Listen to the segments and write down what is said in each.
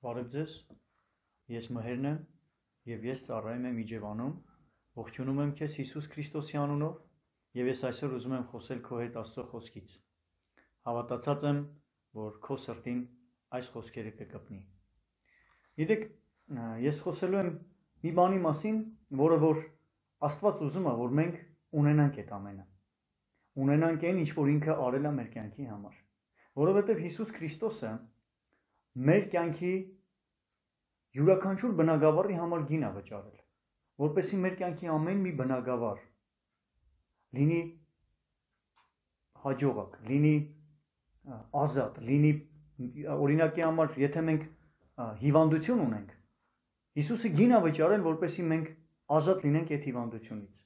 Բարև ձեզ, ես Մհերն եմ և ես ծառայում եմ Իջևանում, ողջունում եմ քեզ Հիսուս Քրիստոսի անունով և ես այսօր ուզում եմ խոսել քո հետ Աստծո խոսքից։ Հավատացած եմ, որ քո սրտին այս խոսքերը կկպնի։ Գիտեք, ես խոսելու եմ մի բանի մասին, որը որ Աստված ուզում է, որ մենք ունենանք այդ ամենը։ Ունենանք այն, ինչ որ ինքը արել է մեր կյանքի համար, որովհետև Հիսուս Քրիստոսը մեր կյանքի յուրաքանչյուր բնագավառի համար գին է վճարել, որպեսզի մեր կյանքի ամեն մի բնագավառ լինի հաջողակ, լինի ազատ, լինի օրինակի համար, եթե մենք հիվանդություն ունենք, Հիսուսը գին է վճարել, որպեսզի մենք ազատ լինենք այդ հիվանդությունից։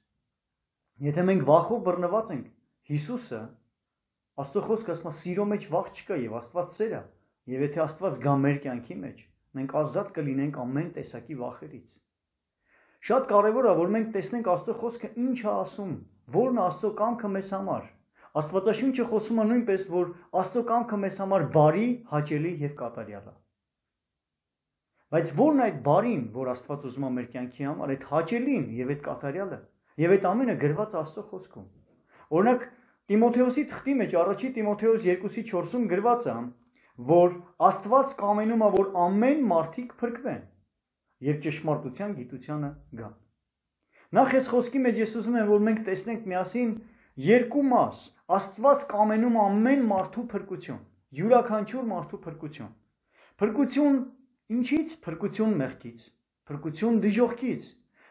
Եթե մենք վախով բռնված ենք, Հիսուսը Աստծո խոսքը ասում է, սիրո մեջ վախ չկա եւ Աստված սեր է, եւ եթե Աստված գա մեր կյանքի մեջ, մենք ազատ կլինենք ամեն տեսակի վախերից։ Շատ կարևոր է, որ մենք տեսնենք Աստծո խոսքը ինչ է ասում, որն է Աստծո կամքը մեզ համար։ Աստվածաշունչը խոսում է նույնպես, որ Աստծո կամքը մեզ համար բարի, հաճելի եւ կատարյալ է։ Բայց ո՞րն է այդ բարին, որ Աստված ուզում է մեր կյանքի համար, այդ հաճելին եւ այդ կատարյալը, եւ այդ ամենը գրված Աստծո խոսքում։ Օրինակ Տիմոթեոսի թղթի մեջ առաջի Տիմոթեոս 2:4-ում գրված է, որ Աստված կամենում է, որ ամեն մարդիկ փրկվեն եւ ճշմարտության գիտությանը գան։ Նախ այս խոսքի մեջ ես ուզում եմ, որ մենք տեսնենք միասին երկու մաս։ Աստված կամենում է ամեն մարդու փրկություն, յուրաքանչյուր մարդու փրկություն։ Փրկություն ինչից? Փրկություն մեղքից, փրկություն դժոխքից,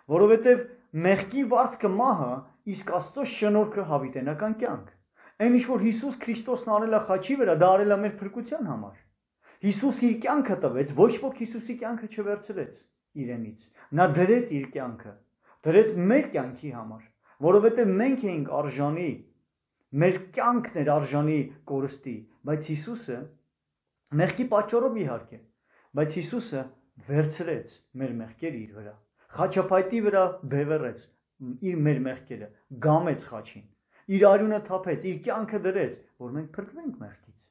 որովհետեւ մեղքի վարձքը մահը, իսկ Աստծո շնորհքը հավիտենական կյանք։ Այն ինչ որ Հիսուս Քրիստոսն արել է խաչի վրա, դա արել է մեր փրկության համար։ Հիսուս իր կյանքը տվեց, ոչ ոք Հիսուսի կյանքը չվերցրեց իրենից։ Նա դրեց իր կյանքը, դրեց մեր կյանքի համար, որովհետև մենք էինք արժանի, մեր կյանքն էր արժանի կորստի, բայց Հիսուսը մեղքի պատճառով իհարկե, բայց Հիսուսը վերցրեց մեր մեղքերը իր վրա, խաչապայտի վրա բևեռեց իր մեր մեղքերը, գամեց խաչին, իր արյունը թափեց, իր կյանքը դրեց, որ մենք փրկվենք մեղքից,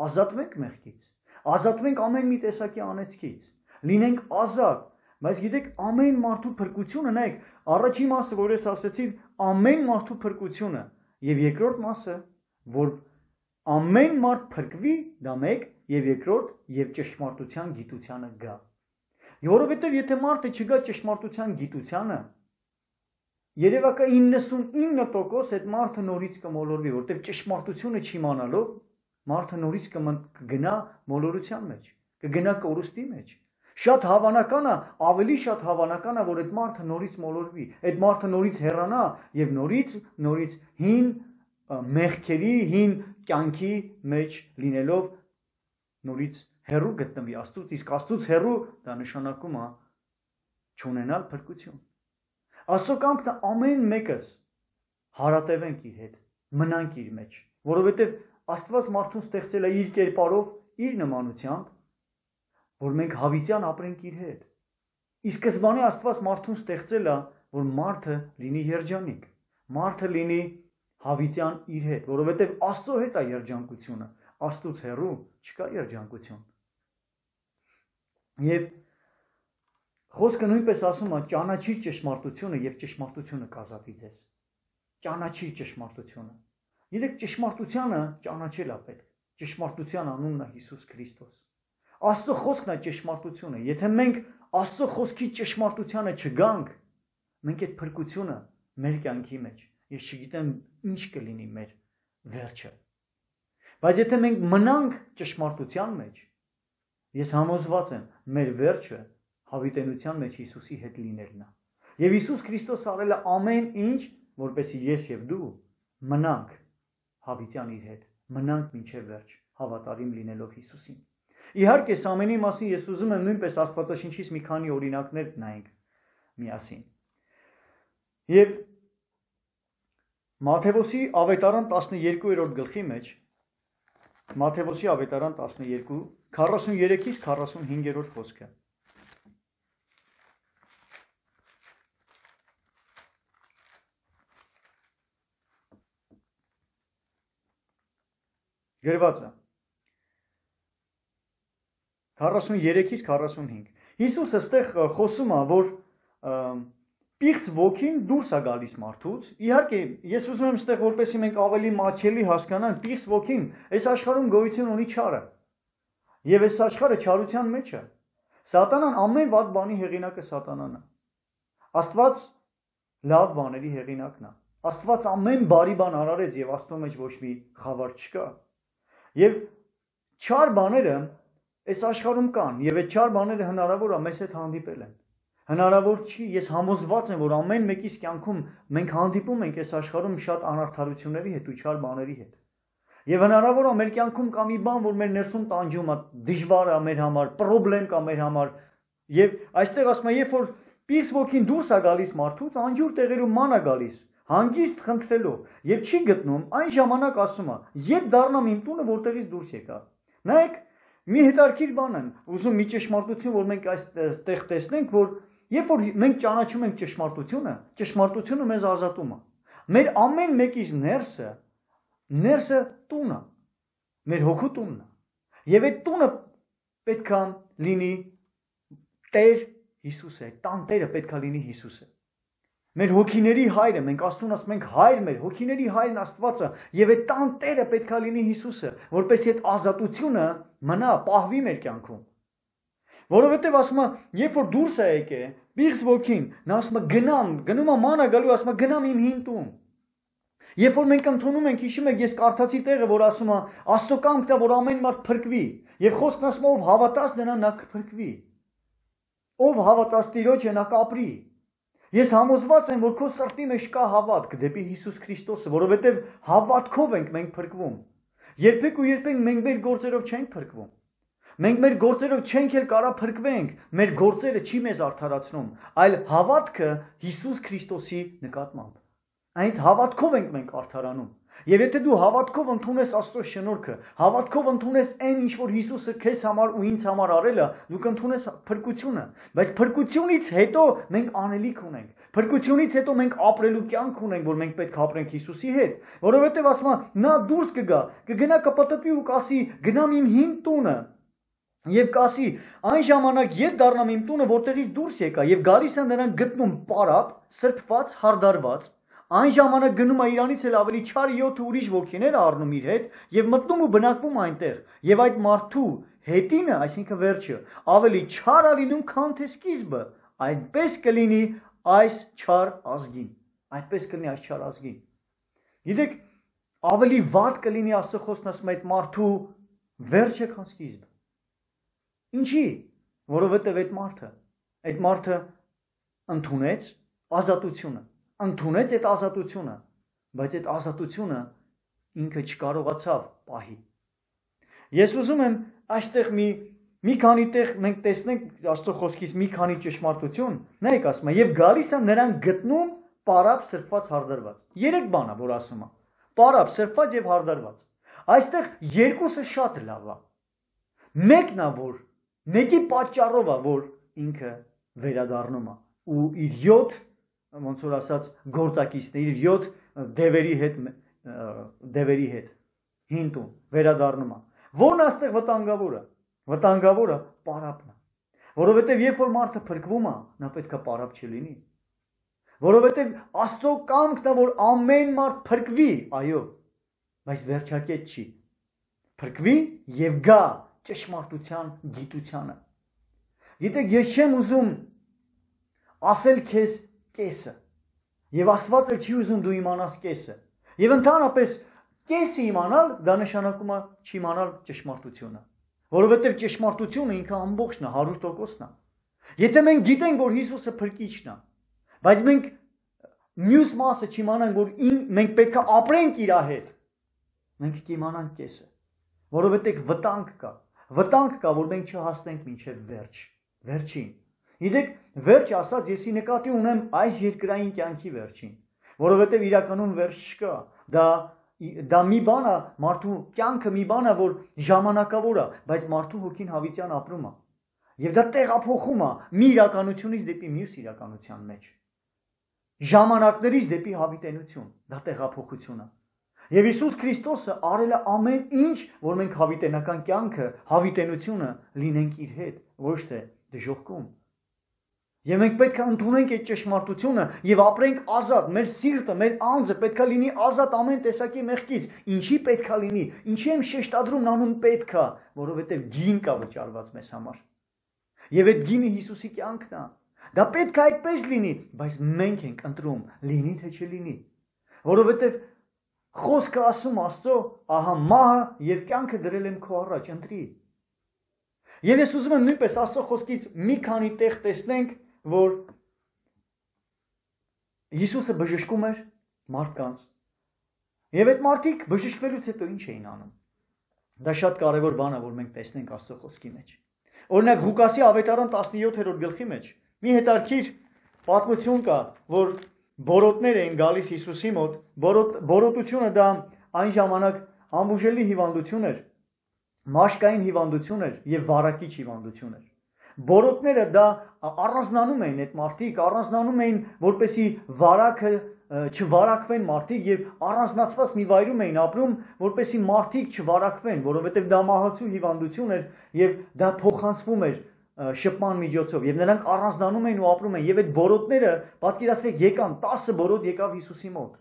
ազատվենք մեղքից, ազատվենք ամեն մի տեսակի անեծքից, լինենք ազատ, բայց գիտեք, ամեն մարդու փրկությունը, նայեք, առաջին մասը, որ ես ասեցի, ամեն մարդու փրկությունը, եւ երկրորդ մասը, որ ամեն մարդ փրկվի, դա մեկ, եւ երկրորդ, եւ ճշմարտության գիտությանը գա։ Որովհետեւ եթե մարդը չգա ճշմարտության գիտությանը, երևակա 99% այդ մարդը նորից կմոլորվի, որտեղ ճշմարտությունը չիմանալով մարդը նորից կգնա մոլորության մեջ, կգնա կորուստի մեջ։ Շատ հավանական է, ավելի շատ հավանական է, որ այդ մարդը նորից մոլորվի, այդ մարդը նորից հեռանա եւ նորից հին մեղքերի, հին կյանքի մեջ լինելով նորից հեռու գտնվի Աստծուց, իսկ Աստծուց հեռու դա նշանակում է չունենալ փրկություն։ Աստծո կամքն է ամեն մեկս հարատևենք իր հետ, մնանք իր մեջ, որովհետև Աստված մարդուն ստեղծել է իր կերպարով, իր նմանությամբ, որ մենք հավիտյան ապրենք իր հետ։ Իսկ սկզբանե Աստված մարդուն ստեղծել է, որ մարդը լինի երջանիկ, մարդը լինի հավիտյան իր հետ, որովհետև Աստծո հետ է երջանկությունը, Աստծուց հեռու չկա երջանկություն։ Եվ խոսքը նույնպես ասում է ճանաչիր ճշմարտությունը եւ ճշմարտությունը կազատի ձեզ։ Ճանաչիր ճշմարտությունը։ Գիտեք, ճշմարտությանը ճանաչել է պետք։ Ճշմարտության անունն է Հիսուս Քրիստոս։ Աստծո խոսքն է ճշմարտությունը։ Եթե մենք Աստծո խոսքի ճշմարտությանը չգանք, մենք այդ փրկությունը մեր կյանքի մեջ, ես չգիտեմ ինչ կլինի մեր վերջը։ Բայց եթե մենք մնանք ճշմարտության մեջ, ես համոզված եմ, մեր վերջը հավիտենության մեջ Հիսուսի հետ լինելն է։ Եվ Հիսուս Քրիստոս արել է ամեն ինչ, որպեսզի ես եւ դու մնանք հավիտյան իր հետ, մնանք մինչև վերջ, հավատարիմ լինելով Հիսուսին։ Իհարկե, այս ամենի մասին ես ուզում եմ նույնպես Աստվածաշնչից մի քանի օրինակներ նայենք միասին։ Եւ Մատթեոսի ավետարան 12-րդ գլխի մեջ, Մատթեոսի ավետարան 12, 43-ից 45-րդ խոսքը։ Գրված է 43-ից 45։ Հիսուսը ստեղ խոսում է, որ պիղծ ոգին դուրս է գալիս մարդուց։ Իհարկե, ես ուզում եմ ստեղ որպեսզի մենք ավելի մատչելի հասկանանք, պիղծ ոգին այս աշխարհում գոյություն ունի չարը։ Եվ այս աշխարհը չարության մեջ է։ Սատանան ամեն վատ բանի հեղինակը սատանան է։ Աստված լավ բաների հեղինակն է։ Աստված ամեն բարի բան արարեց եւ Աստծո մեջ ոչ մի խավար չկա։ Եվ չար բաները այս աշխարհում կան եւ այդ չար բաները հնարավոր է մեզ հետ հանդիպել են։ Հնարավոր չի, ես համոզված եմ, որ ամեն մեկիս կյանքում մենք հանդիպում ենք այս աշխարհում շատ անարդարությունների հետ ու չար բաների հետ։ Եվ հնարավոր է մեր կյանքում կա մի բան, որ մեր ներսում տանջում է, դժվար է մեր համար, խնդրեմ կա մեր համար։ Եվ այստեղ ասում է, երբ որ պիղծ ոգին դուրս է գալիս մարդուց, անջուր տեղերում ման է գալիս, հանգիստ խնդրելով, եւ չի գտնում, այն ժամանակ ասում է, «Ետ դառնամ իմ տունը, որտեղից դուրս եկա»։ Նայեք, մի հետարքիր բան եմ, ուզում մի ճշմարտություն, որ մենք այստեղ տեսնենք, որ երբ որ մենք ճանաչում ենք ճշմարտությունը մեզ ազատում է։ Մեր ամեն մեկից ներսը տունը, մեր հոգու տունն է։ Եվ այդ տունը պետք է լինի Տեր Հիսուսը, տան Տերը պետք է լինի Հիսուսը։ Մեր հոգիների հայրը, մենք Աստծուն ասում ենք հայր մեր, հոգիների հայրն Աստվածը, եւ այդ տան Տերը պետք է լինի Հիսուսը, որպեսզի այդ ազատությունը մնա, պահվի մեր կյանքում։ Որովհետև ասում է, երբ որ դուրս է եկել, պիղծ ոգին, նա ասում է գնում է մանա գալու, ասում է գնամ իմ հին տուն։ Երբ որ մենք ընդունում ենք, հիշում եք, ես կարդացի տեղը, որ ասում է, Աստծո կամքն է, որ ամեն մարդ փրկվի, եւ խոսքն ասում է, ով հավատաց նրան նա կփրկվի։ Ով հավատաց Տիրոջը նա կապրի։ Ես համոզված եմ, որ քո սրտի մեջ կա հավատք դեպի Հիսուս Քրիստոսը, որովհետև հավատքով ենք մենք փրկվում։ Երբեք ու երբեք մենք մեր գործերով չենք փրկվում։ Մենք մեր գործերով չենք էլ կարա փրկվենք, մեր գործերը չի մեզ արդարացնում, այլ հավատքը Հիսուս Քրիստոսի նկատմամբ։ Այդ հավատքով ենք մենք արդարանում։ Եվ եթե դու հավատքով ընդունես Աստծո շնորհքը, հավատքով ընդունես այն ինչ որ Հիսուսը քեզ համար ու ինձ համար արել է, դու կընդունես փրկությունը, բայց փրկությունից հետո մենք անելիք ունենք։ Փրկությունից հետո մենք ապրելու կյանք ունենք, որ մենք պետք է ապրենք Հիսուսի հետ, որովհետև ասում է, նա դուրս կգնա կպտտվի ու կասի, գնամ իմ հին տունը։ Եվ կասի, այն ժամանակ ետ դառնամ իմ տունը, որտեղից դուրս եկա, եւ գալիս է նրան գտնում պարապ, սրբված, հարդարված։ Այն ժամանակ գնում է իրանից էլ ավելի չար 7 ուրիշ ոգիներ առնում իր հետ եւ մտնում ու բնակվում այնտեղ։ Եվ այդ մարդու հետինը, այսինքն վերջը, ավելի չար է լինում, քան թե սկիզբը։ Այդպես կլինի այս չար ազգին։ Այդպես կլինի այս չար ազգին։ Գիտեք, ավելի վատ կլինի Աստծո խոսքն ասում է այդ մարդու վերջը, քան սկիզբը։ Ինչի՞, որովհետև այդ մարդը ընդունեց ազատությունը, ընդունեց այդ ազատությունը, բայց այդ ազատությունը ինքը չկարողացավ պահի։ Ես ուզում եմ այստեղ մի քանի տեղ մենք տեսնենք Աստծո խոսքից մի քանի ճշմարտություն, նայեք ասում է, եւ գալիս է նրան գտնում պարապ, սրբված, հարդարված։ 3 բան է, որ ասում է. պարապ, սրբված եւ հարդարված։ Այստեղ երկուսը շատ լավ է։ Մեկն է, որ մեկի պատճառով է, որ ինքը վերադառնում է ու իր 7 ոնց որ ասած գործակիցներ, իր 7 դևերի հետ հինտուն վերադառնում է։ Որն աստեղ վտանգավորը։ Վտանգավորը պարապն է։ Որովհետև երբ որ մարդը փրկվում է, նա պետք է պարապ չլինի։ Որովհետև Աստծո կամքն է, որ ամեն մարդ փրկվի, այո, բայց վերջակետ չի։ Փրկվի եւ գա ճշմարտության գիտությանը։ Գիտեք, ես չեմ ուզում ասել քեզ կեսը, եւ Աստված էլ չի ուզում դու իմանաս կեսը։ Եվ ընդհանրապես կեսը իմանալ դա նշանակում է չիմանալ ճշմարտությունը, որովհետեւ ճշմարտությունը ինքը ամբողջն է, 100%-ն է։ Եթե մենք գիտենք, որ Հիսուսը փրկիչն է, բայց մենք մյուս մասը չիմանանք, որ մենք պետք է ապրենք իր հետ, մենք կիմանանք կեսը, որովհետեւ վտանգ կա, որ մենք չհասնենք մինչև վերջին։ Գիտեք, վերջ ասած եսի նկատի ունեմ այս երկրային կյանքի վերջին, որովհետև իրականում վերջ չկա, դա մի բան է, մարդու կյանքը մի բան է, որ ժամանակավոր է, բայց մարդու հոգին հավիտյան ապրում է, եւ դա տեղափոխում է մի իրականությունից դեպի մյուս իրականության մեջ, ժամանակներից դեպի հավիտենություն, դա տեղափոխություն է, Եվ Հիսուս Քրիստոսը արել է ամեն ինչ, որ մենք հավիտենական կյանքը, հավիտենությունը լինենք իր հետ, ոչ թե դժոխքում։ Եվ մենք պետք է ընդունենք այդ ճշմարտությունը եւ ապրենք ազատ, մեր սիրտը, մեր անձը պետք է լինի ազատ ամեն տեսակի մեղքից։ Ինչի պետք է լինի։ Ինչի եմ շեշտադրում նանում պետք է, որովհետեւ գին կա վճարված մեզ համար։ Եվ այդ գինը Հիսուսի կյանքն է։ Դա պետք է այդպես լինի, բայց մենք ենք ընտրում լինի թե չլինի։ Որովհետեւ խոսքը ասում Աստծո, ահա մահը եւ կյանքը դրել եմ քո առաջ, ընտրի։ Եվ ես ուզում եմ նույնպես Աստծո խոսքից մի քանի տեղ տեսնենք, որ Հիսուսը բժշկում էր մարդկանց։ Եվ այդ մարդիկ բժշկվելուց հետո ինչ էին անում։ Դա շատ կարևոր բան է, որ մենք տեսնենք Աստծո խոսքի մեջ։ Օրինակ Ղուկասի ավետարան 17-րդ գլխի մեջ մի հետաքրքիր պատմություն կա, որ բորոտներ էին գալիս Հիսուսի մոտ։ Բորոտությունը դա այն ժամանակ անբուժելի հիվանդություն էր, մաշկային հիվանդություն էր եւ վարակիչ հիվանդություն էր։ Բորոտները դա առանձնանում էին այդ մարդիկ, առանձնանում էին, որպեսի վարակը չվարակվեն մարդիկ եւ առանձնացված մի վայրում էին ապրում, որպեսի մարդիկ չվարակվեն, որովհետեւ դա մահացու հիվանդություն էր եւ դա փոխանցվում էր շփման միջոցով եւ նրանք առանձնանում էին ու ապրում են եւ այդ բորոտները պատկերացրեք եկան 10 բորոտ եկավ Հիսուսի մոտ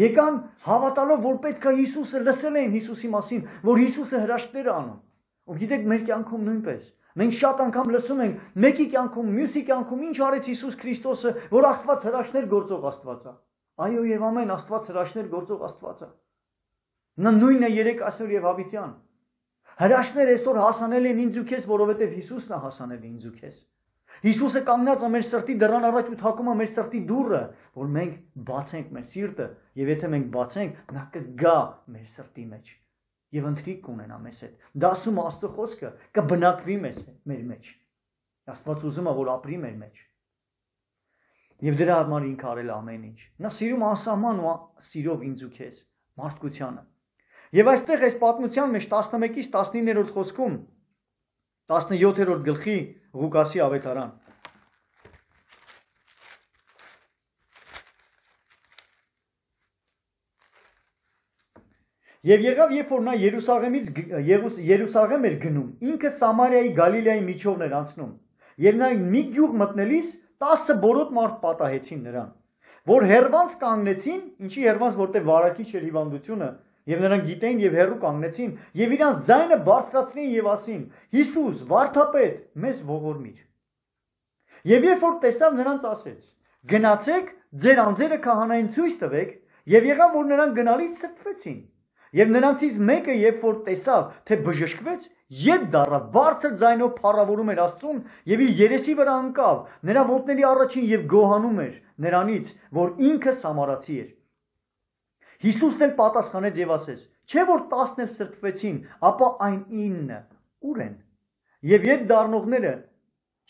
եկան հավատալով որ պետք է Հիսուսը լսել էին Հիսուսի մասին որ Հիսուսը հրաշքներ է անում ու գիտեք մեր կյանքում նույնպես մենք շատ անգամ լսում ենք մեկի կյանքում մյուսի կյանքում ինչ արեց Հիսուս Քրիստոսը որ Աստված հրաշքներ գործող Աստված է այո եւ ամեն Աստված հրաշքներ գործող Աստված է նա նույնն է երեք այսօր եւ հավիտյան Հրաշքներ այսօր հասանել են ինձ ու քեզ, որովհետև Հիսուսն է հասանել ինձ ու քեզ։ Հիսուսը կանգնած է մեր սրտի դռան առաջ ու թակում է մեր սրտի դուռը, որ մենք բացենք մեր սիրտը, եւ եթե մենք բացենք, նա կգա մեր սրտի մեջ եւ ընթրիք կունենա մեզ հետ։ Դա ասում է Աստծո խոսքը, կբնակվի մեր մեջ։ Աստված ուզում է, որ ապրի մեր մեջ։ Եվ դրա համար ինքը արել ամեն ինչ։ Նա սիրում անսահման ու սիրով ինձ ու քեզ, մարդկությանը։ Եվ այստեղ այս պատմության մեջ 11-ից 19-րդ խոսքում 17-րդ գլխի Ղուկասի ավետարան Եվ եղավ երբ որ նա Երուսաղեմ էր գնում ինքը Սամարիայի Գալիլեայի միջովն էր անցնում եւ նա մի գյուղ մտնելիս 10 բորոտ մարդ պատահեցին նրան որ հերվանց կանգնեցին ինչի հերվանց որտեղ վարակիչ էր հիվանդությունը Եվ նրանք գիտեին եւ հեռու կանգնեցին եւ իրանց ձայնը բարձրացրին եւ ասին Հիսուս վարդապետ մեզ ողորմիր Եվ երբ որ տեսավ նրանց ասեց գնացեք ձեր անձերը քահանային ցույց տվեք եւ եղավ որ նրանք գնալից սրբվեցին եւ նրանցից մեկը երբ որ տեսավ թե բժշկվեց ետ դառավ բարձր ձայնով փառավորում էր Աստծուն եւ իր երեսի վրա ընկավ նրա ոտների առաջին եւ գոհանում էր նրանից որ ինքը սամարացի էր Հիսուսն էլ պատասխանեց եւ ասեց. Չէ որ 10-ն էլ սրբվեցին, ապա այն 9-ը ուր են։ Եվ ետ դառնողները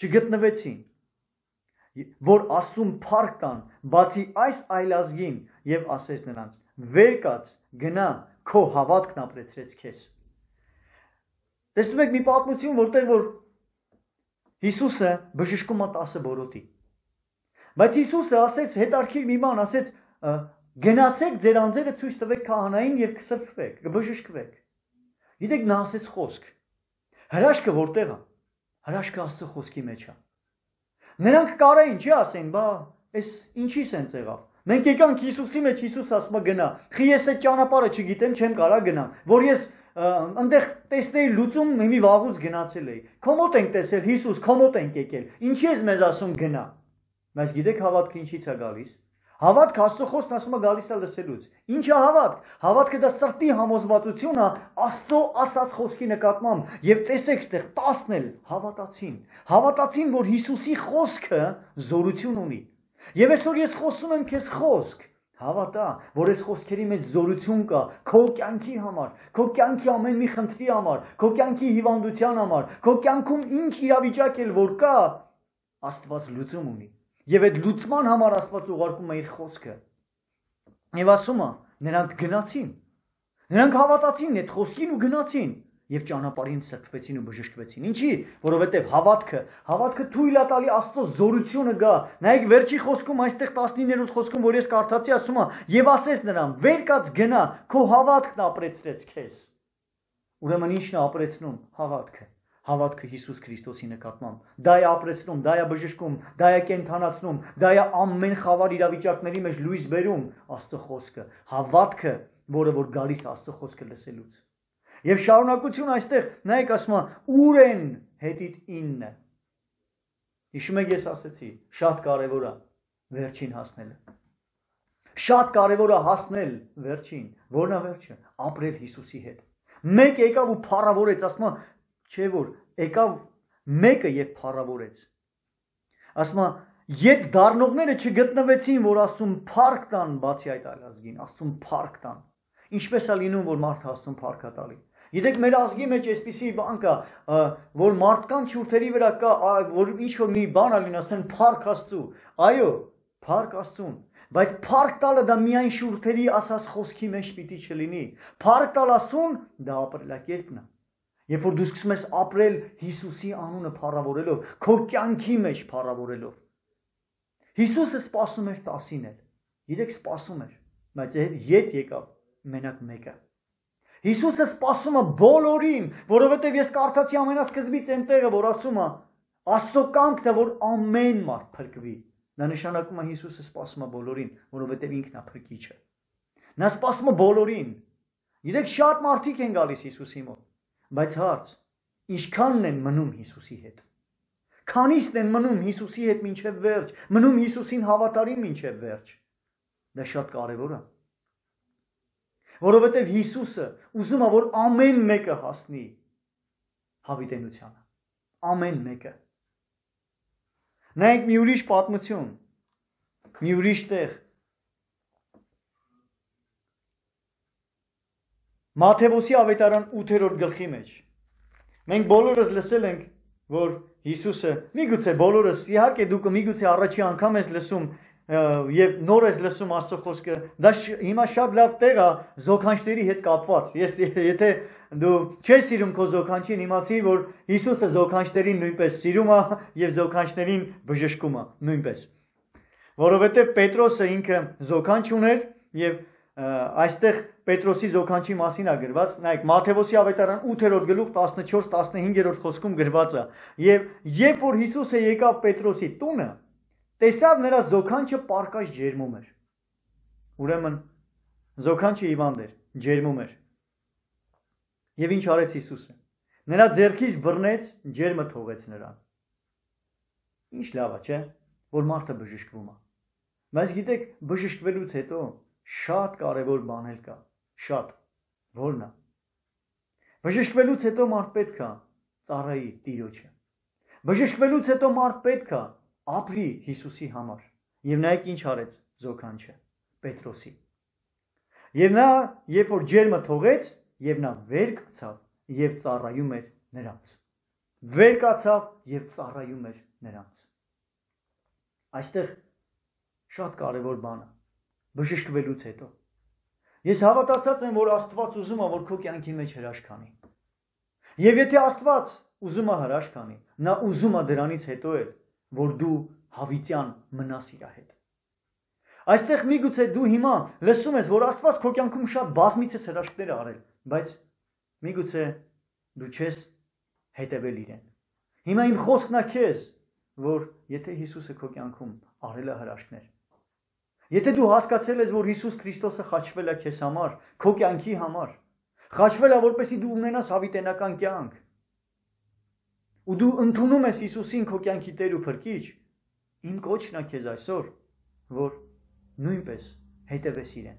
չգտնվեցին, որ Աստծուն փառք տան, բացի այս այլազգին եւ ասեց նրանց. Վեր կաց, գնա, քո հավատքն ապրեցրեց քեզ։ Տեսնում եք մի պատմություն, որտեղ որ Հիսուսը բժշկում է 10 բորոտի։ Բայց Հիսուսը ասեց հետարքիր մի բան, ասեց Գնացեք ձեր անձերը ցույց տվեք քահանային եւ կսրբվեք, կբժշկվեք։ Գիտեք նա ասեց խոսք։ Հրաշքը որտեղ է։ Հրաշքը Աստծո խոսքի մեջ է։ Նրանք կարային չի ասեն, բա այս ինչի սենց եղավ։ Մենք եկանք Հիսուսի մեջ, Հիսուս ասում է գնա։ Խի ես այդ ճանապարհը չգիտեմ, չեմ կարա գնամ, որ ես այնտեղ տեսնեի լուծում մի վաղուց գնացել էի։ Քո մոտ ենք տեսել Հիսուս, քո մոտ ենք եկել։ Ինչի ես մեզ ասում գնա։ Բայց գիտեք հավատքը ինչից է գալիս։ Հավատքը Աստծո խոսքն ասում է գալիս է լսելուց։ Ինչ է հավատք։ Հավատքը դա սրտի համոզվածություն է Աստծո ասած խոսքի նկատմամբ։ Եվ տեսեք, ստեղ 10-ն էլ հավատացին։ Հավատացին, որ Հիսուսի խոսքը զորություն ունի։ Եվ այսօր ես խոսում եմ քեզ խոսք։ Հավատա, որ այս խոսքերի մեջ զորություն կա քո կյանքի համար, քո կյանքի ամեն մի խնդրի համար, քո կյանքի հիվանդության համար, քո կյանքում ինչ իրավիճակ էլ որ կա, Աստված լուծում ունի։ Եվ այդ լուծման համար Աստված ուղարկում է իր խոսքը։ Եվ ասում է, նրանք գնացին։ Նրանք հավատացին այդ խոսքին ու գնացին։ եւ ճանապարհին սրբվեցին ու բժշկվեցին։ Ինչի՞, որովհետեւ հավատքը թույլ է տալի Աստծո զորությունը գա։ Նայեք վերջի խոսքում, այստեղ 19-րդ խոսքում, որ ես կարդացի, ասում է. «Եվ ասես նրան. վեր կաց գնա, քո հավատքն ապրեցրեց քեզ»։ Ուրեմն ի՞նչն է ապրեցնում հավատքը։ Հավատքը Հիսուս Քրիստոսի նկատմամբ։ Դա է ապրեցնում, դա է բժշկում, դա է կենթանացնում, դա է ամեն խավար իրավիճակների մեջ լույս բերում Աստծո խոսքը։ Հավատքը, որը որ գալիս Աստծո խոսքը լսելուց։ Եվ շարունակություն այստեղ, նայեք, ասում է, ուր են հետիդ 9։ Հիշում եք, ես ասեցի, շատ կարևոր է վերջին հասնելը։ Շատ կարևոր է հասնել վերջին։ Որն է վերջը։ Ապրել Հիսուսի հետ։ Մեկ եկավ ու փառավորեց, ասում է, չէ որ եկավ մեկը եւ փառավորեց։ Ասում է, ետ դառնողները չգտնվեցին, որ ասում փառք տան բացի այդ այլ ազգին, ասում փառք տան։ Ինչպես է լինում, որ մարդը Աստծուն փառք է տալի։ Գիտեք, մեր ազգի մեջ այսպիսի բան կա, որ մարդկանց շուրթերի վրա կա, որ ինչ որ մի բան է լինում, ասեն փառք Աստծու։ Այո, փառք Աստծուն, բայց փառք տալը դա միայն շուրթերի ասած խոսքի մեջ պիտի չլինի։ Փառք տալ Աստծուն դա ապրելակերպն է։ Երբ որ դու սկսում ես ապրել Հիսուսի անունը փառավորելով, քո կյանքի մեջ փառավորելով։ Հիսուսը սպասում էր 10-ին էլ։ Գիտեք, սպասում էր, բայց ետ եկավ մենակ մեկը։ Հիսուսը սպասում է բոլորին, որովհետև ես կարդացի ամենասկզբից այնտեղը, որ ասում է Աստծո կամքն է, որ ամեն մարդ փրկվի։ Դա նշանակում է Հիսուսը սպասում է բոլորին, որովհետև ինքն է փրկիչը։ Նա սպասում է բոլորին։ Գիտեք, շատ մարդիկ են գալիս Հիսուսի մոտ, բայց հարց, ինչքանն են մնում Հիսուսի հետ։ Քանիսն են մնում Հիսուսի հետ մինչև վերջ, մնում Հիսուսին հավատարիմ մինչև վերջ։ Դա շատ կարևոր է։ Որովհետև Հիսուսը ուզում է, որ ամեն մեկը հասնի հավիտենությանը։ Ամեն մեկը։ Նայեք մի ուրիշ պատմություն, մի ուրիշ տեղ։ Մատթեոսի ավետարան 8-րդ գլխի մեջ։ Մենք բոլորս լսել ենք, որ Հիսուսը, միգուցե բոլորս, իհարկե դուք միգուցե առաջի անգամ ես լսում եւ նոր ես լսում Աստծո խոսքը, դա հիմա շատ լավ տեղ է զոքանչների հետ կապված։ Եթե դու չես սիրում քո զոքանչին, իմացի, որ Հիսուսը զոքանչներին նույնպես սիրում է եւ զոքանչներին բժշկում է նույնպես։ Որովհետեւ Պետրոսը ինքը զոքանչ ուներ եւ այստեղ Պետրոսի զոքանչի մասին է գրված, նայեք Մատթեոսի ավետարան 8-րդ գլուխ 14-15-րդ խոսքում գրված է։ Եվ երբ որ Հիսուսը եկավ Պետրոսի տունը, տեսավ նրա զոքանչը պարկած ջերմում էր։ Ուրեմն զոքանչը հիվանդ էր, ջերմում էր։ Եվ ինչ արեց Հիսուսը։ Նրա ձեռքից բռնեց, ջերմը թողեց նրան։ Ինչ լավ է, չէ՞, որ մարդը բժշկվում է։ Բայց գիտեք, բժշկվելուց հետո շատ կարևոր բան էլ կա, շատ, որն է։ Բժշկվելուց հետո մարդ պետք է ծառայի Տիրոջը։ Բժշկվելուց հետո մարդ պետք է ապրի Հիսուսի համար։ Եվ նայեք ինչ արեց զոքանչը, Պետրոսի։ Եվ նա, երբ որ ջերմը թողեց, եւ նա վեր կացավ եւ ծառայում էր նրանց։ Վեր կացավ եւ ծառայում էր նրանց։ Այստեղ շատ կարևոր բան է։ Բժշկվելուց հետո։ Ես հավատացած եմ, որ Աստված ուզում է, որ քո կյանքի մեջ հրաշք անի։ Եվ եթե Աստված ուզում է հրաշք անի, նա ուզում է դրանից հետո էլ, որ դու հավիտյան մնաս իր հետ։ Այստեղ միգուցե դու հիմա լսում ես, որ Աստված քո կյանքում շատ բազմիցս հրաշքներ է արել, բայց միգուցե դու չես հետևել իրեն։ Հիմա իմ խոսքն է քեզ, որ եթե Հիսուսը քո կյանքում արել է հրաշքներ, եթե դու հասկացել ես, որ Հիսուս Քրիստոսը խաչվել է քեզ համար, քո կյանքի համար, խաչվել է, որպեսզի դու ունենաս հավիտենական կյանք, ու դու ընդունում ես Հիսուսին քո կյանքի Տեր ու Փրկիչ, իմ կոչն է քեզ այսօր, որ նույնպես հետևես իրեն։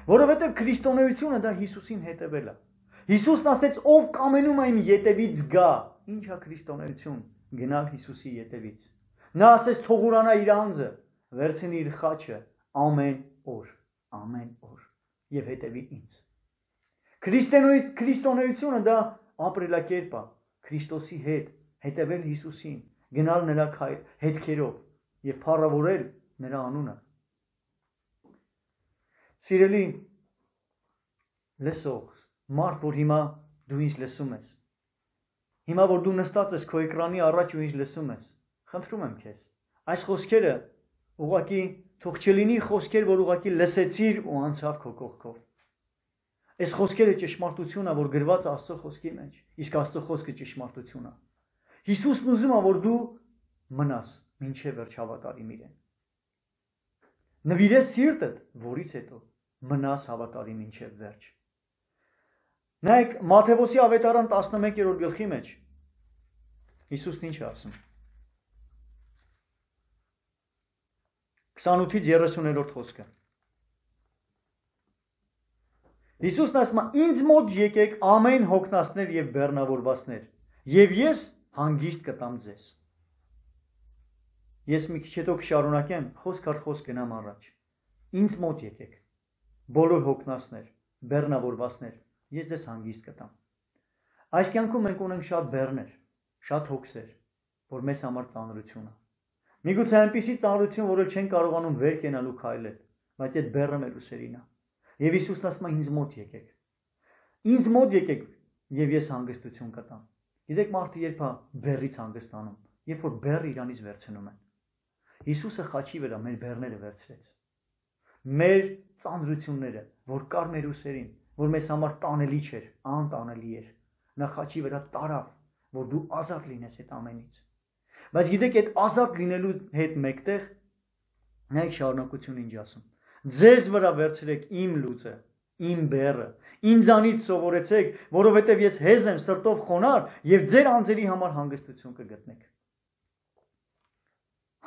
Որովհետև քրիստոնեությունը դա Հիսուսին հետևել է։ Հիսուսն ասեց, ով կամենում է իմ ետևից գա, ինչ է քրիստոնեություն, գնալ Հիսուսի ետևից։ Նա ասեց, թող ուրանա իր անձը, վերցնի իր խաչը ամեն օր եւ հետևի ինձ։ Քրիստոնեությունը դա ապրելակերպ է, Քրիստոսի հետ հետևել Հիսուսին, գնալ նրա հետքերով եւ փառավորել նրա անունը։ Սիրելի լսող, մարդ, որ հիմա դու ինձ լսում ես։ Հիմա որ դու նստած ես քո էկրանի առաջ ու ինձ լսում ես, խնդրում եմ քեզ, այս խոսքերը ուղղակի թող չլինի խոսքեր, որ ուղղակի լսեցիր ու անցավ քո կողքով։ Այս խոսքերը ճշմարտություն է, որ գրված է Աստծո խոսքի մեջ, իսկ Աստծո խոսքը ճշմարտություն է։ Հիսուսն ուզում է, որ դու մնաս մինչև վերջ հավատարիմ իրեն։ Նվիրես սիրտդ, որից հետո մնաս հավատարիմ մինչև վերջ։ Նայեք Մատթեոսի ավետարան 11-րդ գլխի մեջ Հիսուսն ինչ է ասում։ 28-ից 30-րդ խոսքը։ Հիսուսն ասում է. «Ինձ մոտ եկեք ամեն հոգնածներ եւ բեռնավորվածներ, եւ ես հանգիստ կտամ ձեզ»։ Ես մի քիչ հետո կշարունակեմ, խոսք առ խոսք գնամ առաջ։ Ինձ մոտ եկեք, բոլոր հոգնածներ, բեռնավորվածներ, ես ձեզ հանգիստ կտամ։ Այս կյանքում մենք ունենք շատ բեռներ, շատ հոգսեր, որ մեզ համար ծանրություն է։ Միգուցե այնպիսի ծանրություն, որ չեն կարողանում վեր կենալ ու քայլել, բայց այդ բեռը մեր ուսերին է։ Եվ Հիսուսն ասում է. ինձ մոտ եկեք։ Ինձ մոտ եկեք, եւ ես հանգստություն կտամ։ Գիտեք մարդը երբ է բեռից հանգստանում, երբ որ բեռը իրանից վերցնում են։ Հիսուսը խաչի վրա մեր բեռները վերցրեց։ Մեր ծանրությունները, որ կար մեր ուսերին, որ մեզ համար տանելի չէր, անտանելի էր, նա խաչի վրա տարավ, որ դու ազատ լինես այդ ամենից։ Բայց գիտեք, այդ ազատ լինելու հետ մեկտեղ նայեք շարունակությունը ինչ ասում։ Ձեզ վրա վերցրեք իմ լուծը, իմ բեռը, ինձանից սովորեցեք, որովհետև ես հեզ եմ, սրտով խոնարհ եւ ձեր անձերի համար հանգստություն կգտնեք։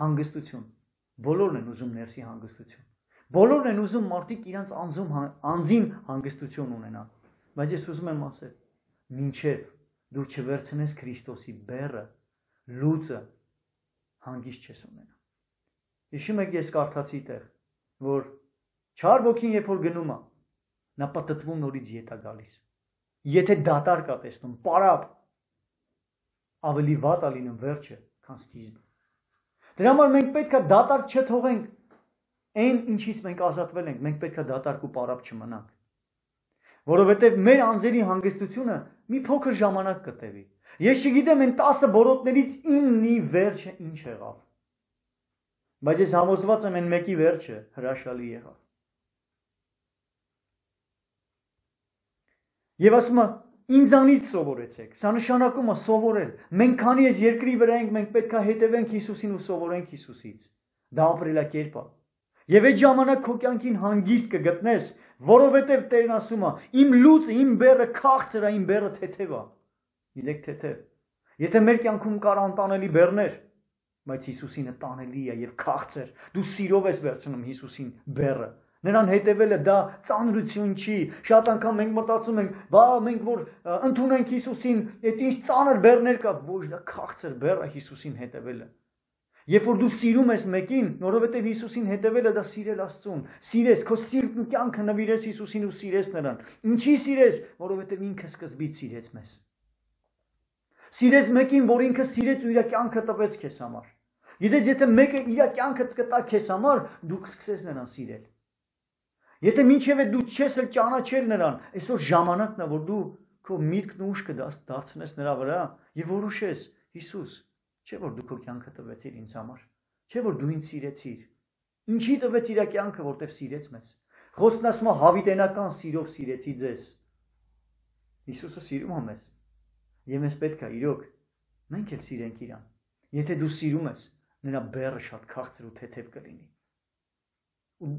Հանգստություն։ Բոլորն են ուզում ներսի հանգստություն։ Բոլորն են ուզում մարդիկ իրանց անձին հանգստություն ունենան։ Բայց ես ուզում եմ ասել, մինչև դու չվերցնես Քրիստոսի բեռը, լուծը, հանգիստ չես ունենա։ Հիշում եք ես կարդացի տեղ, որ չար ոգին երբ որ գնում է, նա պատտվում նորից ետ է գալիս։ Եթե դատարկ է տեսնում, պարապ, ավելի վատ է լինում վերջը, քան սկիզբը։ Դրա համար մենք պետք է դատարկ չթողենք այն ինչից մենք ազատվել ենք, մենք պետք է դատարկ ու պարապ չմնանք։ Որովհետև մեր անձերի հանգստությունը մի փոքր ժամանակ կտևի։ Ես չգիտեմ այն 10 բորոտներից 9-ի վերջը ինչ եղավ։ Բայց ես համոզված եմ այն մեկի վերջը հրաշալի եղավ։ Եվ ասում է ինձանից սովորեցեք։ Սա նշանակում է սովորել։ Մենք քանի ես երկրի վրա ենք, մենք պետք է հետևենք Հիսուսին ու սովորենք Հիսուսից։ Դա ապրելակերպ է։ Եվ այդ ժամանակ քո կյանքին հանգիստ կգտնես, որովհետև Տերն ասում է. իմ լուծը, իմ բեռը քաղցր է, իմ բեռը թեթև է։ Գիտեք թեթև։ Եթե մեր կյանքում կար անտանելի բեռներ, բայց Հիսուսինը տանելի է եւ քաղցր, դու սիրով ես վերցնում Հիսուսին բեռը։ Նրան հետևելը դա ծանրություն չի։ Շատ անգամ մենք մտածում ենք, բա մենք որ ընդունենք Հիսուսին, այդ ինչ ծանր բեռներ կա, ոչ դա քաղցր բեռ է Հիսուսին հետևելը։ Երբ որ դու սիրում ես մեկին, որովհետև Հիսուսին հետևելը դա սիրել Աստծուն, սիրես, քո սիրտն ու կյանքը նվիրես Հիսուսին ու սիրես նրան։ Ինչի սիրես, որովհետև ինքը սկզբից սիրեց մեզ։ Սիրես մեկին, որ ինքը սիրեց ու իր կյանքը տվեց քեզ համար։ Գիտես, եթե մեկը իր կյանքը կտա քեզ համար, դու կսկսես նրան սիրել։ Եթե մինչև դու չես էլ ճանաչել նրան, այսօր ժամանակն է, որ դու քո միտքն ու ուշքը դարձնես նրա վրա եւ որոշես, Հիսուս, չէ՞ որ դու քո կյանքը տվեցիր ինձ համար, չէ՞ որ դու ինձ սիրեցիր։ Ինչի տվեց իր կյանքը, որտեվ սիրեց մեզ։ Խոսքն ասում է հավիտենական սիրով սիրեցի ձեզ։ Հիսուսը սիրում է մեզ։ Եվ մեզ պետք է իրոք մենք էլ սիրենք իրան։ Եթե դու սիրում ես, նրա բեռը շատ քաղցր ու թեթև կլինի։ Ու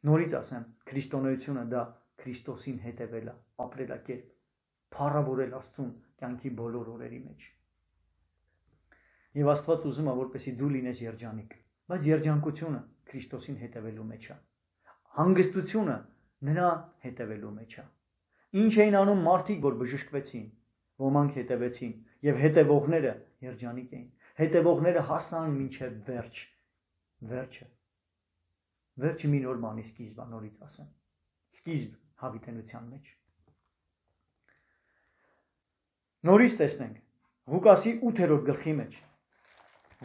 նորից ասեմ, քրիստոնեությունը դա Քրիստոսին հետևելը, ապրելակերպ, փառավորել Աստծուն կյանքի բոլոր օրերի մեջ։ Եվ Աստված ուզում է, որպեսզի դու լինես երջանիկ, բայց երջանկությունը Քրիստոսին հետևելու մեջ է։ Հանգստությունը նրա հետևելու մեջ է։ Ինչ էին անում մարդիկ, որ բժշկվեցին, ոմանք հետևեցին, եւ հետևողները երջանիկ էին։ Հետևողները հասան մինչև վերջը։ Վերջը մի նոր բանի սկիզբ է, նորից ասեմ։ Սկիզբ հավիտենության մեջ։ Նորից տեսնենք Ղուկասի 8-րդ գլխի մեջ։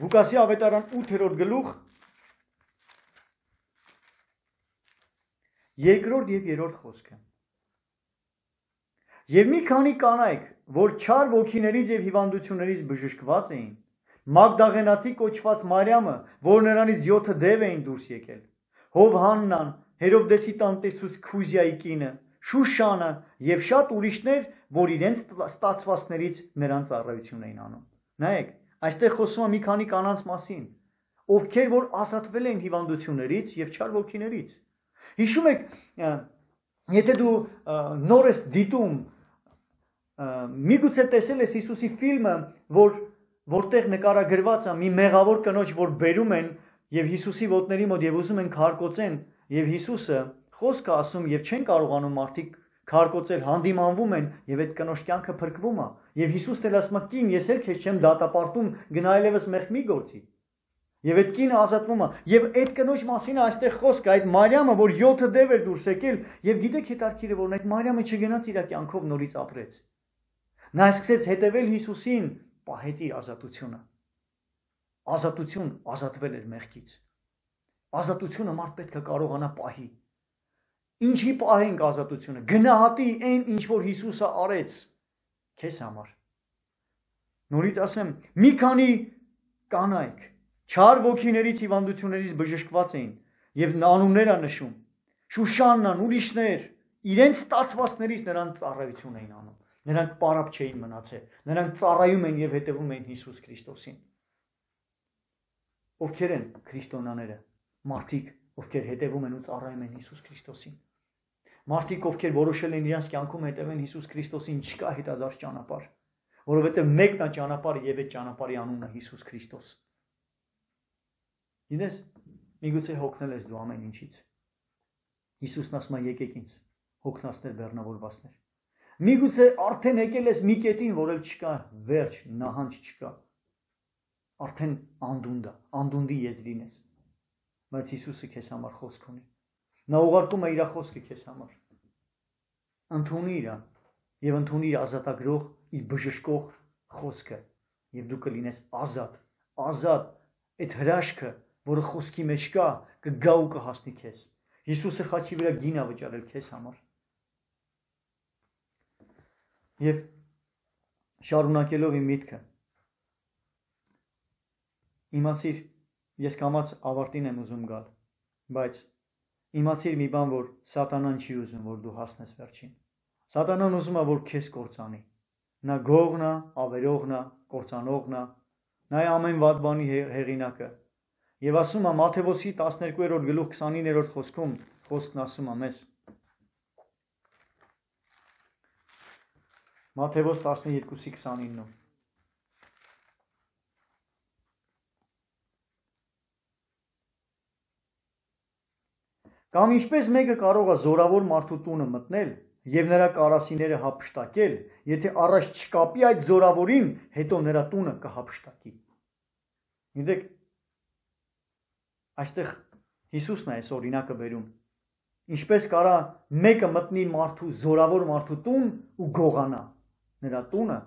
Ղուկասի ավետարան 8-րդ գլուխ 2-րդ եւ 3-րդ խոսքը։ Եվ մի քանի կանայք, որ չար ոգիներից եւ հիվանդություններից բժշկված էին, Մագդաղենացի կոչված Մարիամը, որ նրանից 7 դև էին դուրս եկել, Հովհաննան, Հերովդեսի տանտեսուց Քուզիայի կինը, Շուշանը եւ շատ ուրիշներ, որ իրենց ստացվածներից նրան ծառայություն էին անում։ Նայեք, այստեղ խոսում է մի քանի կանանց մասին, ովքեր որ ազատվել են հիվանդություններից եւ չար ոգիներից։ Հիշում եք, եթե դու նոր ես դիտում, միգուցե տեսել ես Հիսուսի ֆիլմը, որտեղ նկարագրված է մի մեղավոր կնոջ, որ բերում են եւ Հիսուսի ոտների մոտ եւ ուզում են քարկոծեն, եւ Հիսուսը խոսք է ասում եւ չեն կարողանում մարդիկ քարկոծել, հանդիմանվում են եւ այդ կնոջ կյանքը փրկվում է։ Եվ Հիսուսն էլ ասում է. «Կին, ես էլ քեզ չեմ դատապարտում, գնա այլևս մեղք մի գործի»։ Եվ այդ կինը ազատվում է։ Եվ այդ կնոջ մասին է այստեղ խոսքը, այդ Մարիամը, որ 7 դև էր դուրս եկել, եւ գիտեք հետաքրքիր է, որ այդ Մարիամը չգնաց իր կյանքով նորից ապրեց։ Նա սկսեց հետևել Հիսուսին, պահեց իր ազատությունը։ Ազատություն, ազատվել էր մեղքից։ Ազատությունը մարդ պետք է կարողանա պահի։ Ինչի պահենք ազատությունը։ Գնահատի այն, ինչ որ Հիսուսը արեց քեզ համար։ Նորից ասեմ, մի քանի կանայք չար ոգիներից հիվանդություններից բժշկված էին եւ անուններ է նշում։ Շուշաննան, ուրիշներ, իրենց ստացվածներից նրանց ծառայություն էին անում։ Նրանք պարապ չէին մնացել։ Նրանք ծառայում են եւ հետևում էին Հիսուս Քրիստոսին։ Ովքեր են քրիստոնյաները։ Մարդիկ, ովքեր հետևում են ու ծառայում են Հիսուս Քրիստոսին։ Մարդիկ, ովքեր որոշել են իրենց կյանքում հետևեն Հիսուս Քրիստոսին, չկա հետադարձ ճանապարհ, որովհետև մեկն է ճանապարհը եւ այդ ճանապարհի անունը Հիսուս Քրիստոս։ Գիտես, միգուցե հոգնել ես դու ամեն ինչից։ Հիսուսն ասում է եկեք ինձ, հոգնածներ բեռնավորվածներ։ Միգուցե արդեն եկել ես մի կետին, որ էլ չկա վերջ, նահանջ չկա։ Արդեն անդունդի եզրին ես։ Բայց Հիսուսը քեզ համար խոսք ունի։ Նա ուղարկում է իր խոսքը քեզ համար։ Ընդունի իրան եւ ընդունի իր ազատագրող, իր բժշկող խոսքը եւ դու կլինես ազատ, այդ հրաշքը, որը խոսքի մեջ կա, կգա ու կհասնի քեզ։ Հիսուսը խաչի վրա գին է վճարել քեզ համար։ Եվ շարունակելով իմ միտքը, իմացիր, ես կամաց ավարտին եմ ուզում գալ, բայց իմացիր մի բան, որ սատանան չի ուզում, որ դու հասնես վերջին։ Սատանան ուզում է, որ քեզ կործանի։ Նա գողն է, ավերողն է, կործանողն է, նա է ամեն վատ բանի հեղինակը։ Եվ ասում է Մատթեոս 12-րդ գլուխ 29-րդ խոսքում, խոսքն ասում է մեզ։ Մատթեոս 12:29 Կամ ինչպես մեկը կարող է զորավոր մարդու տունը մտնել եւ նրա կարասիները հափշտակել, եթե առաջ չկապի այդ զորավորին, հետո նրա տունը կհափշտակի։ Գիտեք, այստեղ Հիսուսն է այս օրինակը բերում։ Ինչպես կարա մեկը մտնի զորավոր մարդու տուն ու գողանա նրա տունը,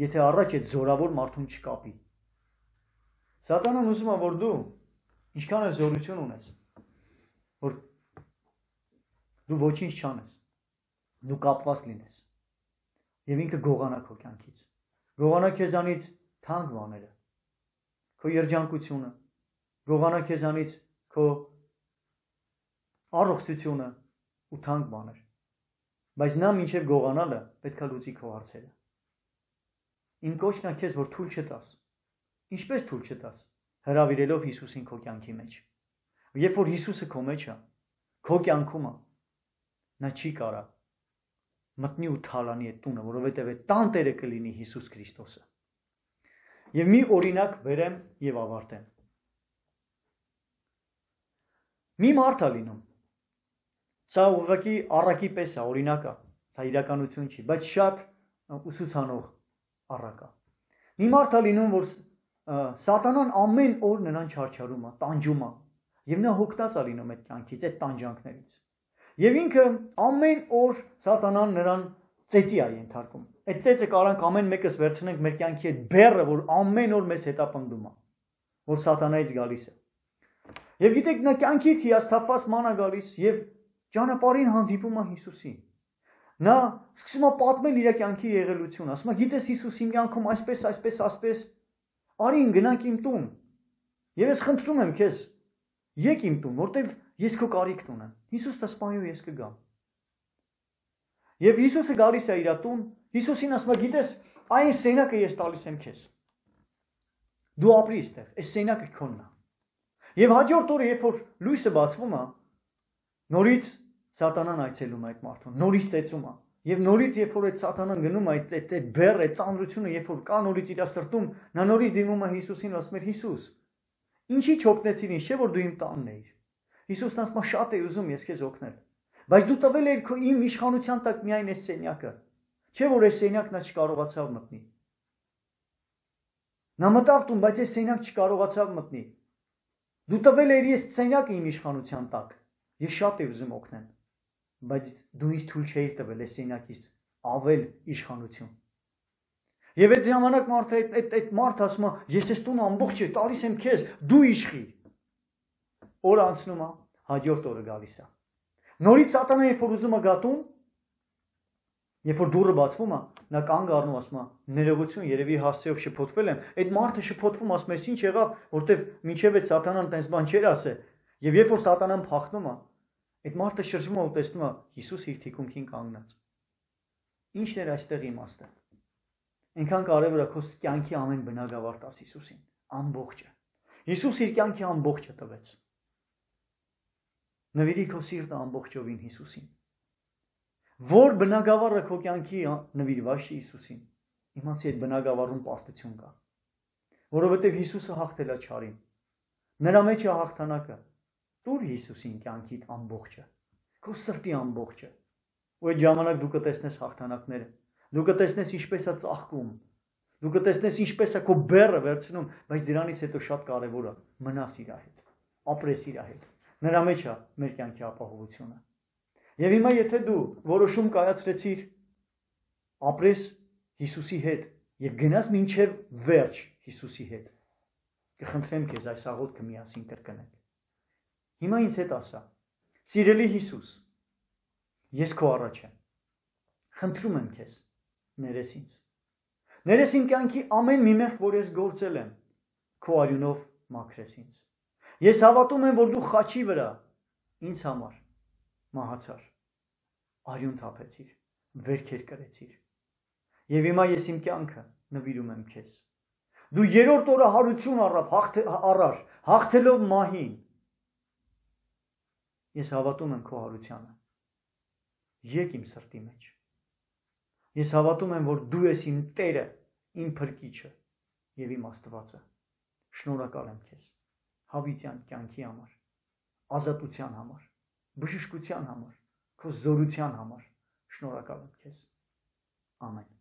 եթե առաջ այդ զորավոր մարդուն չկապի։ Սատանան ուզում է, որ դու ինչքան էլ զորություն ունես, որ դու ոչինչ չանես, դու կապված լինես եւ ինքը գողանա քո կյանքից, գողանա քեզանից թանկ բաները, քո երջանկությունը, գողանա քեզանից քո առողջությունը ու թանկ բաներ, բայց նա մինչև գողանալը պետքա լուծի քո հարցերը։ Իմ կոչն է քեզ, որ թույլ չտաս, ինչպես թույլ չտաս, հրավիրելով Հիսուսին քո կյանքի մեջ։ Երբ որ Հիսուսը քո մեջ է, քո կյանքում է, նա չի կարա մտնի ու թալանի այդ տունը, որովհետև այդ տան տերը կլինի Հիսուս Քրիստոսը։ Եվ մի օրինակ բերեմ եւ ավարտեմ։ Մի մարդ է լինում։ Սա ուղղակի առակի պես է, օրինակ է, սա իրականություն չի, բայց շատ ուսուցանող առակ է։ Մի մարդ է լինում, որ սատանան ամեն օր նրան չարչարում է, տանջում է, եւ նա հոգնած է լինում այդ կյանքից, այդ տանջանքներից։ Եվ ինքը ամեն օր սատանան նրան ծեծի է ենթարկում։ Այդ ծեծը կարանք ամեն մեկս վերցնենք մեր կյանքի այդ բեռը, որ ամեն օր մեզ հետապնդում է, որ սատանայից գալիս է։ Եվ գիտեք, նա կյանքից հիասթափված ման է գալիս եւ ճանապարհին հանդիպում է Հիսուսին։ Նա սկսում է պատմել իր կյանքի եղելությունը, ասում է, գիտես Հիսուս իմ կյանքում այսպես, արի գնանք իմ տուն։ Եվ ես խնդրում եմ քեզ, եկ իմ տուն, որտեվ ես քո կարիքն ունեմ։ Հիսուսը ասում է, ես կգամ։ Եվ Հիսուսը գալիս է իր տուն, Հիսուսին ասում է, գիտես, այն սենակը ես տալիս եմ քեզ։ Դու ապրի այստեղ, այս սենակը քոնն է։ Եվ հաջորդ օրը, երբ որ լույսը բացվում է, նորից Սատանան այցելում է այդ մարդուն, նորից ծեծում է։ Եվ նորից, երբ որ այդ Սատանան գնում է այդ բեռ, այդ ծանրությունը, երբ որ կա նորից իր սրտում, նա նորից դիմում է Հիսուսին, ասում է, Հիսուս, ինչի չօգնեցիր ինձ, չէ՞ որ դու իմ տանն էիր։ Հիսուսն ասում է, շատ է ուզում ես քեզ օգնել, բայց դու տվել ես քո իմ իշխանության տակ միայն այս սենյակը, չէ՞ որ այս սենյակն նա չկարողացավ մտնել։ Նա մտավ տուն, բայց այս սենյակ չկարողացավ մտնել։ Դու տվել ես սենյակը իմ իշխանության տակ, ես շատ եմ ուզում օգնել, բայց դու ինձ թույլ չէիր տվել այս սենյակից ավել իշխանություն։ Եվ այդ ժամանակ այդ մարդը ասում է, ես այս տունը ամբողջ է տալիս եմ քեզ, դու իշխի։ Օրը անցնում է, հաջորդ օրը գալիս է։ Նորից Սատանան երբ որ ուզում է գատուն, երբ որ դուռը բացվում է, նա կանգ առնում ասում է, ներողություն, երևի հասցեով շփոթվել եմ։ Այդ մարդը շփոթվում ասում է, ինչ եղավ, որտեվ մինչև այդ Սատանան տես բան չէր ասել։ Եվ երբ որ Սատանան փախնում է, այդ մարդը շրջվում է ու տեսնում է Հիսուս իր թիկունքին կանգնած։ Ինչն էր այստեղ իմաստը։ Այնքան կարևոր է քո կյանքի ամեն բնագավառ տաս Հիսուսին, ամբողջը։ Հիսուս իր կյանքի ամբողջը տվեց։ Նվիրի քո սիրտը ամբողջովին Հիսուսին։ Որ բնագավառը քո կյանքի նվիրված է Հիսուսին, իմացի այդ բնագավառում պարտություն կա։ Որովհետև Հիսուսը հաղթել է չարին։ Նրա մեջ է հաղթանակը։ Տուր Հիսուսին կյանքիդ ամբողջը, քո սրտի ամբողջը։ Ու այդ ժամանակ դու կտեսնես հաղթանակները։ Դու կտեսնես ինչպես է ծաղկում։ Դու կտեսնես ինչպես է քո բեռը վերցնում, բայց դրանից հետո շատ կարևոր է մնաս իր հետ, ապրես իր հետ։ Նրա մեջ է մեր կյանքի ապահովությունը։ Եվ հիմա եթե դու որոշում կայացրեցիր ապրես Հիսուսի հետ եւ գնաս մինչեւ վերջ Հիսուսի հետ, կխնդրեմ քեզ այս աղոթքը միասին կրկնենք։ Հիմա ինձ հետ ասա. Սիրելի Հիսուս, ես քո առաջ եմ։ Խնդրում եմ քեզ, ներես ինձ։ Ներես իմ կյանքի ամեն մի մեղք, որ ես գործել եմ, քո արյունով մաքրես ինձ։ Ես հավատում եմ, որ դու խաչի վրա ինձ համար մահացար, արյուն թափեցիր, վերքեր կրեցիր։ Եվ հիմա ես իմ կյանքը նվիրում եմ քեզ։ Դու երրորդ օրը հարություն առար, հաղթելով մահին։ Ես հավատում եմ քո հարությանը։ Եկ իմ սրտի մեջ։ Ես հավատում եմ, որ դու ես իմ Տերը, իմ Փրկիչը եւ իմ Աստվածը։ Շնորհակալ եմ քեզ հավիտյան կյանքի համար, ազատության համար, բժշկության համար, քո զորության համար։ Շնորհակալ եմ քեզ։ Ամեն։